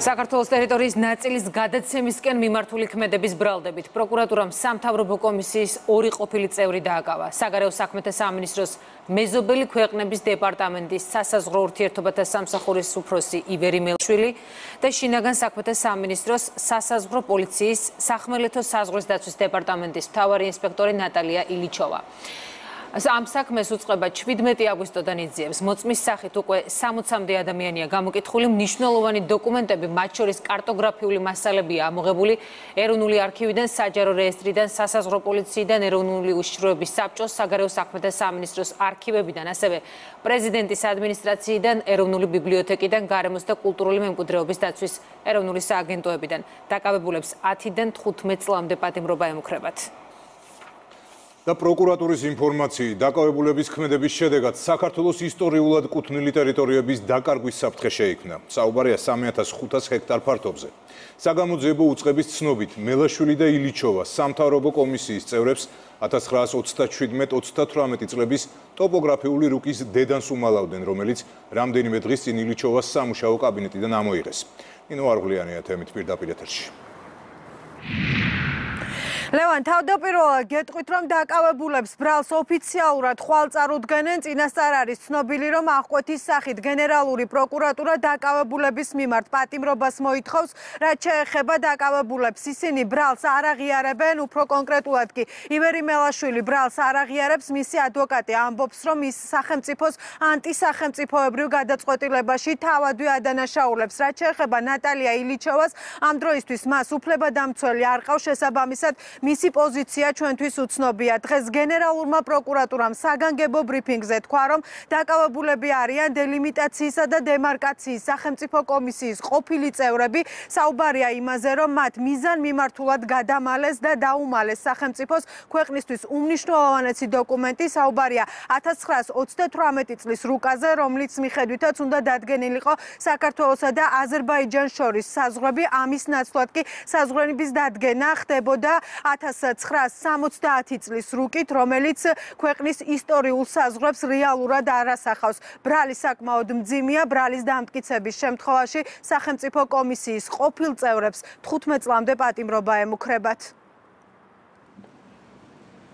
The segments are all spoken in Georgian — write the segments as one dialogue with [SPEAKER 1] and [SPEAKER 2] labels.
[SPEAKER 1] საქართველოს ტერიტორიის ნაწილის გადაცემისკენ მიმართული ქმედების ბრალდებით პროკურატურამ სამთავრობო კომისიის 2 ყოფილი წევრი დააკავა. საგარეო საქმეთა სამინისტროს მეზობელი ქვეყნების დეპარტამენტის სასაზღვრო ურთიერთობათა სამსახურის უფროსი ივერი მელაშვილი და შინაგან საქმეთა სამინისტროს სასაზღვრო პოლიციის სახმელეთო საზღვრის დაცვის დეპარტამენტის მთავარი ინსპექტორი ნატალია ილიჩოვა. Am საქმეს უწყება 17 აგვისტოდან იძიებს. მოწმის სახით უკვე 60-მდე ადამიანია გამოკითხული. მნიშვნელოვანი დოკუმენტები, მათ შორის კარტოგრაფიული მასალებია ამოღებული ეროვნული არქივიდან, საჯარო რეესტრიდან, სასაზღვრო პოლიციიდან, ეროვნული უშიშროების საბჭოს, საგარეო საქმეთა სამინისტროს არქივებიდან, ასევე პრეზიდენტის ადმინისტრაციიდან, ეროვნული ბიბლიოთეკიდან, გარემოს და კულტურული მემკვიდრეობის დაცვის ეროვნული სააგენტოებიდან. დაკავებულებს 10-დან 15 წლამდე პატიმრობა ემუქრებათ.
[SPEAKER 2] და პროკურატურის ინფორმაციით დაკავებულების ქმედების შედეგად საქართველოს ისტორიულად კუთვნილი ტერიტორიების დაკარგვის საფრთხე შეიქმნა. საუბარია 3500 ჰექტარ ფართობზე. საგამოძიებო უწყების ცნობით მელაშვილი და ილიჩოვა სამთავრობო კომისიის წევრებს 1917-38 წლების ტოპოგრაფიული რუკის დედანს უმალავდნენ, რომელიც რამდენიმე დღის წინ ილიჩოვას სამუშაო კაბინეტიდან ამოიღეს. ნინო არღლიანია თემით პირდაპირ ეთერში.
[SPEAKER 3] ლევან, თავდაპირველად გეტყვით, რომ დაკავებულებს ბრალს ოფიციალურად ხვალ წარუდგენენ, წინასწარ არის ცნობილი, რომ აღკვეთის სახით გენერალური პროკურატურა დაკავებულების მიმართ პატიმრობას მოითხოვს, რაც შეეხება დაკავებულებს. ისინი ბრალს არ აღიარებენ, უფრო კონკრეტულად კი ივერი მელაშვილი ბრალს არ აღიარებს, მისი ადვოკატი ამბობს, რომ ის სახელმწიფოს ანტისახელმწიფოებრივ გადაწყვეტილებაში თავადვე ადანაშაულებს. რაც შეეხება ნატალია ილიჩოვას, ამ დროისთვის მას უფლებადამცველი არ ყავს, შესაბამისად მისი პოზიცია ჩვენთვის უცნობია. დღეს გენერალურმა პროკურატურამ საგანგებო ბრიფინგზე თქვა, რომ დაკავებულები არიან დელიმიტაციისა და დემარკაციის სახელმწიფო კომისიის ყოფილი წევრები. საუბარია იმაზე, რომ მათ მიზანმიმართულად გადამალეს და დაუმალეს სახელმწიფოს ქვეყნისთვის უმნიშვნელოვანესი დოკუმენტი. საუბარია 1938 წლის რუკაზე, რომლის მიხედვითაც უნდა დადგენილიყო საქართველოსა და აზერბაიჯანს შორის საზღვრები. ამის ნაცვლად კი საზღვრების დადგენა ხდებოდა 1970 წლის რუკით, რომელიც ქვეყნის ისტორიულ საზღვრებს რეალურად არ ასახავს. ბრალი საკმაოდ მძიმეა, ბრალის დამტკიცების შემთხვევაში სახელმწიფო კომისიის ყოფილ წევრებს 15 წლამდე პატიმრობა ემუქრებათ.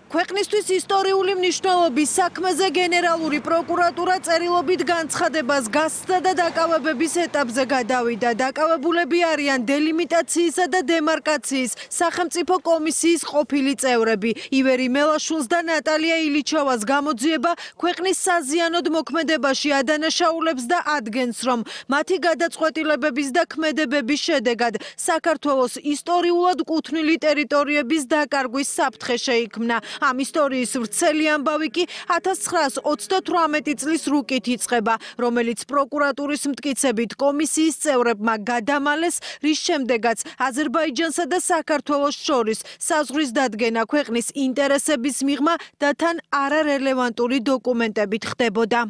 [SPEAKER 3] ქვეყნისთვის ისტორიული მნიშვნელობის საქმეზე გენერალური პროკურატურა წერილობით განცხადებას გასცდა და დაკავებების ეტაპზე გადავიდა. დაკავებულები არიან დელიმიტაციისა და დემარკაციის სახელმწიფო კომისიის ყოფილი წევრები. ივერი მელაშვილს და ნატალია ილიჩოვას გამოძიება ქვეყნის საზიანოდ მოქმედებაში ადანაშაულებს და ადგენს, რომ მათი გადაწყვეტილებების და ქმედებების შედეგად საქართველოს ისტორიულად კუთვნილი ტერიტორიების დაკარგვის საფრთხე შეიქმნა. ამ ისტორიის ვრცელი ამბავი კი 1938 წლის რუკით იწყება, რომელიც პროკურატურის მტკიცებით კომისიის წევრებმა გადამალეს, რის შემდეგაც აზერბაიჯანსა და საქართველოს შორის საზღვრის დადგენა ქვეყნის ინტერესების მიღმა და თან არარელევანტური დოკუმენტებით ხდებოდა.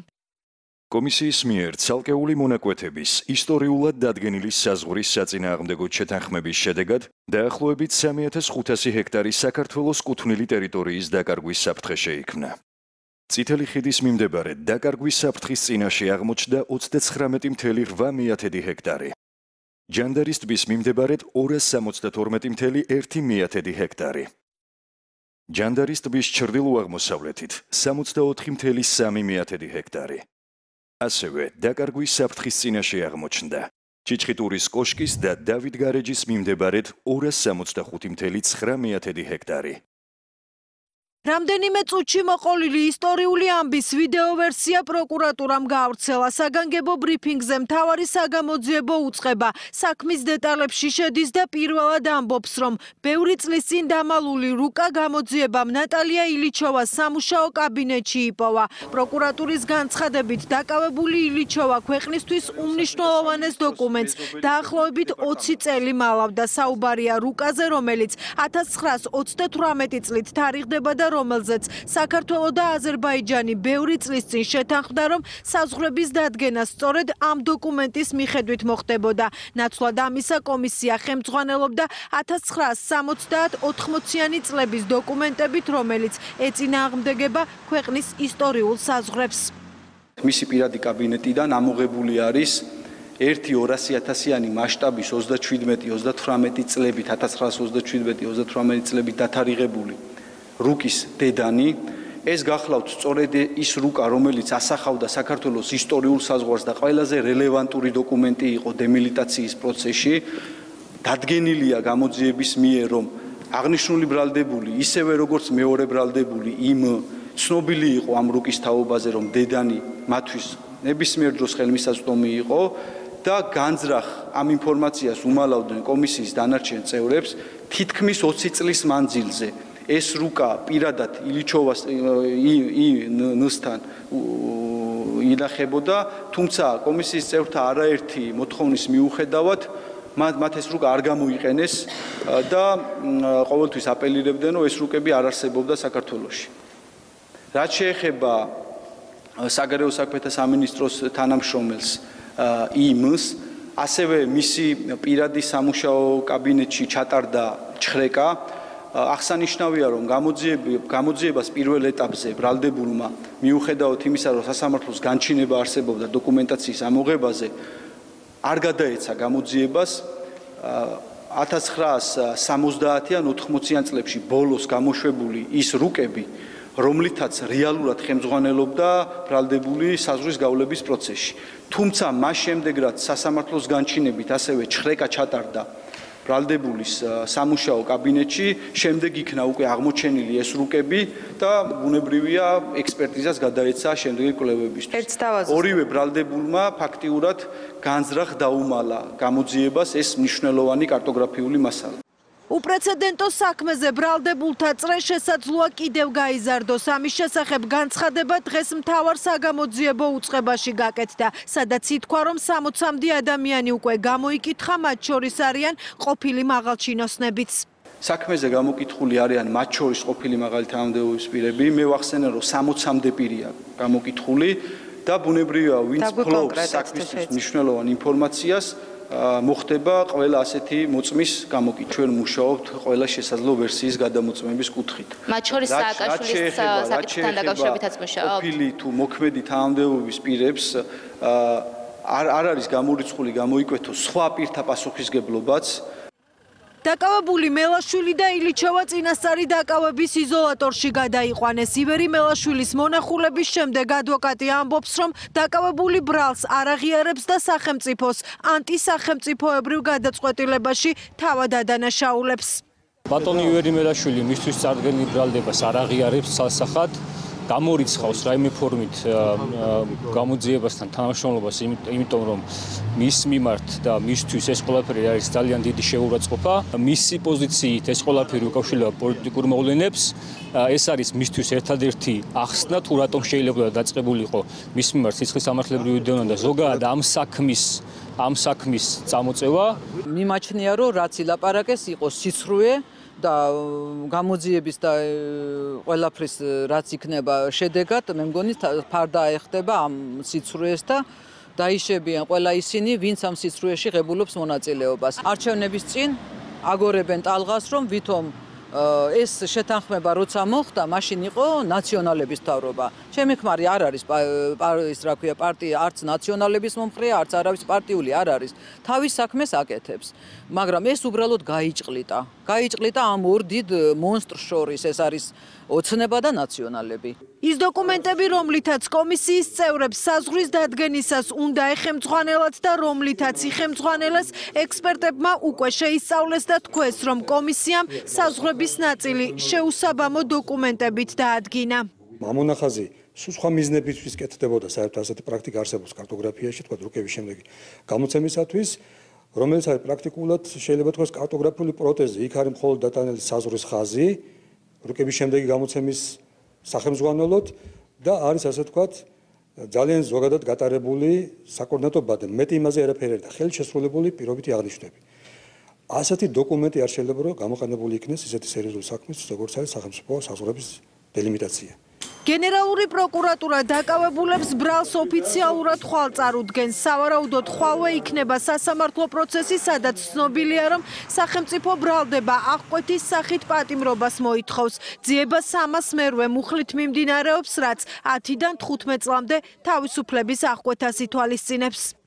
[SPEAKER 4] კომისიის მიერ ცალკეული მონაკვეთების ისტორიულად დადგენილი საზღვრის საწინააღმდეგო შეთანხმების შედეგად დაახლოებით 3500 ჰექტარი საქართველოს კუთვნილი ტერიტორიის დაკარგვის საფრთხე შეიქმნა. წითელი ხიდის მიმდებარედ დაკარგვის საფრთხის წინაშე აღმოჩნდა 39,8 ჰექტარი. ჯანდარის ტბის მიმდებარედ 272,1 ჰექტარი. ჯანდარის ტბის ჩრდილო-აღმოსავლეთით 64,3 ჰექტარი. ასევე დაკარგვის საფრთხის წინაშე აღმოჩნდა ჩიჩხიტურის კოშკის და დავით გარეჯის მიმდებარედ 265,9 ჰექტარი.
[SPEAKER 3] რამდენიმე წუთში მოყოლილი ისტორიული ამბის ვიდეო ვერსია პროკურატურამ გაავრცელა. საგანგებო ბრიფინგზე მთავარი საგამოძიებო უწყება საქმის დეტალებში შედის და პირველად ამბობს, რომ ბევრი წლის წინ დამალული რუკა გამოძიებამ ნატალია ილიჩოვას სამუშაო კაბინეტში იპოვა. პროკურატურის განცხადებით დაკავებული ილიჩოვა ქვეყნისთვის უმნიშვნელოვანეს დოკუმენტს დაახლოებით 20 წელი მალავდა. საუბარია რუკაზე, რომელიც 1938 წლით თარიღდება და რომელზეც საქართველო და აზერბაიჯანი ბევრი წლის წინ შეთანხმდა, რომ საზღვრების დადგენა სწორედ ამ დოკუმენტის მიხედვით მოხდებოდა. ნაცვლად ამისა კომისია ხელმძღვანელობდა 1970-80-იანი წლების დოკუმენტებით, რომელიც ეწინააღმდეგება ქვეყნის ისტორიულ საზღვრებს.
[SPEAKER 5] მისი პირადი კაბინეტიდან ამოღებული არის ერთი 200.000-იანი მასშტაბის 27-38 წლებით 1927-38 წლებით დათარიღებული რუკის დედანი ეს გახლავთ სწორედ ის რუკა რომელიც ასახავდა საქართველოს ისტორიულ საზღვარს და ყველაზე რელევანტური დოკუმენტი იყო დემილიტაციის პროცესში დადგენილია გამოძიების მიერ რომ აღნიშნული ბრალდებული ისევე როგორც მეორე ბრალდებული იმ ცნობილი იყო ამ რუკის თაობაზე რომ დედანი მათთვის ნებისმიერ დროს ხელმისაწვდომი იყო და განძრახ ამ ინფორმაციას უმალავდნენ კომისიის დანარჩენ წევრებს თითქმის 20 წლის მანძილზე ეს რუკა პირადად ილიჩოვას ნსთან ინახებოდა თუმცა კომისიის წევრთა არაერთი მოთხოვნის მიუხედავად მათ ეს რუკა არ გამოიყენეს და ყოველთვის აპელირებდნენ რომ ეს რუკები არ არსებობდა საქართველოში რაც შეეხება საგარეო საქმეთა სამინისტროს თანამშრომელს იმს ასევე მისი პირადი სამუშაო კაბინეტში ჩატარდა ჩხრეკა აღსანიშნავია რომ გამოძიებას პირველ ეტაპზე ბრალდებულმა მიუხედავად იმისა რომ სასამართლოს განჩინება არსებობდა დოკუმენტაციის ამოღებაზე არ გადაეცა გამოძიებას 1970-ან 80-იან წლებში ბოლოს გამოშვებული ის რუკები რომლითაც რეალურად ხელმძღვანელობდა ბრალდებული საზღვრის გავლების პროცესში თუმცა მას შემდეგ რაც სასამართლოს განჩინებით ასევე ჩხრეკა ჩატარდა ბრალდებულის სამუშაო კაბინეტში შემდეგ იქნა უკვე აღმოჩენილი ეს რუკები და ბუნებრივია ექსპერტიზას გადაეცა შემდეგი კვლევებისთვის ორივე ბრალდებულმა ფაქტიურად განზრახ დაუმალა გამოძიებას ეს მნიშვნელოვანი კარტოგრაფიული მასალა
[SPEAKER 3] უპრეცედენტო საქმეზე ბრალდებულთა წრე შესაძლოა კიდევ გაიზარდოს. ამის შესახებ განცხადება დღეს მთავარ საგამოძიებო უწყებაში გაკეთდა, სადაც ითქვა, რომ 60-მდე ადამიანი უკვე გამოიკითხა, მათ შორის არიან ყოფილი მაღალჩინოსნებიც.
[SPEAKER 5] საქმეზე გამოკითხული არიან მათ შორის ყოფილი მაღალი თანამდებობის პირები. მე ვახსენე, რომ 60-მდე პირია გამოკითხული და ბუნებრივია, ვინც ფლობს საქმისთვის მნიშვნელოვან ინფორმაციას მოხდება ყველა ასეთი მოწმის გამოკითხვა. ჩვენ მუშაობთ ყველა შესაძლო ვერსიის გადამოწმების კუთხით.
[SPEAKER 6] მათ შორის სააკაშვილის საკითხთან დაკავშირებითაც მუშაობთ.
[SPEAKER 5] ყოფილი თუ მოქმედი თანამდებობის პირებს არ არის გამორიცხული გამოიკვეთოს სხვა პირთა პასუხისგებლობაც.
[SPEAKER 3] დაკავებული მელაშვილი და ილიჩოვა წინასწარი დაკავების იზოლატორში გადაიყვანეს. ივერი მელაშვილის მონახულების შემდეგ ადვოკატი ამბობს, რომ დაკავებული ბრალს არ აღიარებს და სახელმწიფოს ანტისახელმწიფოებრივ გადაწყვეტილებაში თავად ადანაშაულებს.
[SPEAKER 7] ბატონი ივერი მელაშვილი მისთვის წარდგენილ ბრალდებას არ აღიარებს სასახად. გამორიცხავს რაიმე ფორმით გამოძიებასთან თანამშრომლობას, იმიტომ რომ მის მიმართ და მისთვის ეს ყველაფერი არის ძალიან დიდი შეურაცხყოფა. მისი პოზიციით ეს ყველაფერი უკავშირდება პოლიტიკურ მოვლენებს. ეს არის მისთვის ერთადერთი ახსნა, თუ რატომ შეიძლება დაწყებულიყო მის მიმართ სიცხის სამართლებრივი დევნა და ზოგადად ამ საქმის წამოწევა.
[SPEAKER 8] მიმაჩნია, რომ რაც ილაპარაკეს იყო სიცრუე და გამოძიების და ყველაფრის რაც იქნება შედეგად მე მგონი ფარდა ეხდება ამ სიცრუეს და დაიშებიან ყველა ისინი ვინც ამ სიცრუეში ღებულობს მონაწილეობას არჩევნების წინ აგორებენ ტალღას რომ ვითომ ეს შეთანხმება როცა მოხდა მაშინ იყო ნაციონალების მთავრობა ჩემი ხმარი არ არის ის რა ქვია პარტია არც ნაციონალების მომხრეა არც არავის პარტიული არ არის თავის საქმეს აკეთებს მაგრამ ეს უბრალოდ გაიჭყლიტა ამ ორ დიდ მონსტრს შორის ეს არის ოცნება და ნაციონალები
[SPEAKER 3] ის დოკუმენტები რომლითაც კომისიის წევრებს საზღვრის დადგენისას უნდა ეხემძღვანელათ და რომლითაც იხემძღვანელეს ექსპერტებმა უკვე შეისწავლეს და თქვეს რომ კომისიამ საზღვრების ნაწილი შეუსაბამო დოკუმენტებით დაადგინა
[SPEAKER 9] მამონახაზი სხვა მიზნებისთვის კეთდებოდა საერთოდ ასეთი პრაქტიკა არსებობს კარტოგრაფიაში თქვა რუკების შემდეგი გამოცემისათვის რომელიც არის პრაქტიკულად შეიძლება თქვას კარტოგრაფიული პროტეზი იქ არის მხოლოდ დატანილი საზღვრის ხაზი რუკების შემდეგი გამოცემის სახელმძღვანელოდ და არის ასე ვთქვათ ძალიან ზოგადად გატარებული საკოორდინატო ბადა მეტი იმაზე არაფერი და ხელით შესრულებული პირობითი აღნიშვნები. ასეთი დოკუმენტი არ შეიძლება რომ გამოყენებული იქნეს ისეთი სერიოზული საქმის როგორც არის სახელმწიფო საზღვრების დელიმიტაცია.
[SPEAKER 3] გენერალური პროკურატურა დაკავებულებს ბრალს ოფიციალურად ხვალ წარუდგენს. სავარაუდოდ ხვალვე იქნება სასამართლო პროცესი, სადაც ცნობილია, რომ სახელმწიფო ბრალდება აღკვეთის სახით პატიმრობას მოითხოვს. ძიება 300 მერვე მუხლით მიმდინარეობს, რაც 10-დან 15 წლამდე თავისუფლების აღკვეთას ითვალისწინებს.